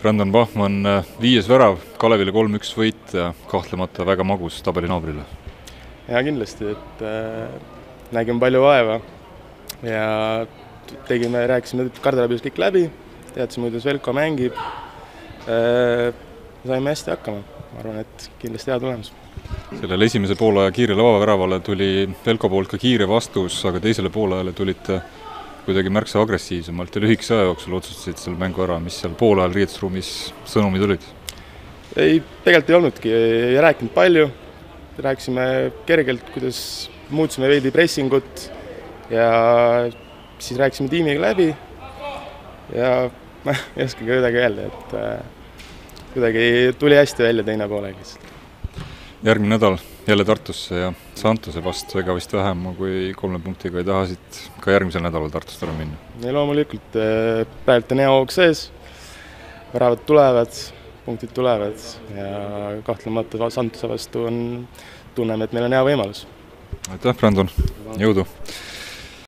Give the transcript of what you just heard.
Brandon Bachmann, 5. värav, Kalevile 3-1 võit ja kahtlemata väga magus tabelinaabrile. Ja kindlasti, et nägime palju vaeva ja rääkisime Kardelabius kõik läbi, teadsime, kuidas Velko mängib. Saime hästi hakkama, ma arvan, et kindlasti hea tulemus. Sellele esimese poolaja kiirele vabaväravale tuli Velko poolt ka kiire vastus, aga teisele poolajale tulite kuidagi märksa agressiivsemalt ja lühikese aja jooksul otsustasid selle mängu ära, mis seal poolajal riietusruumis sõnumid olid? Ei, tegelikult ei olnudki, ei rääkinud palju, rääkisime kergelt, kuidas muutsime veidi pressingut ja siis rääkisime tiimiga läbi ja ma ei oska kuidagi öelda, et kuidagi tuli hästi välja teine poolega lihtsalt. Järgmine nädal jälle Tartusse ja Santuse vastu, ega vist vähem kui 3 punktiga ei tahasid ka järgmisel nädalal Tartust ära minna. Ja loomulikult praegu on hea hoog sees, väravad tulevad, punktid tulevad ja kahtlemata Santuse vastu tunneme, et meil on hea võimalus. Aitäh, Brandon, jõudu!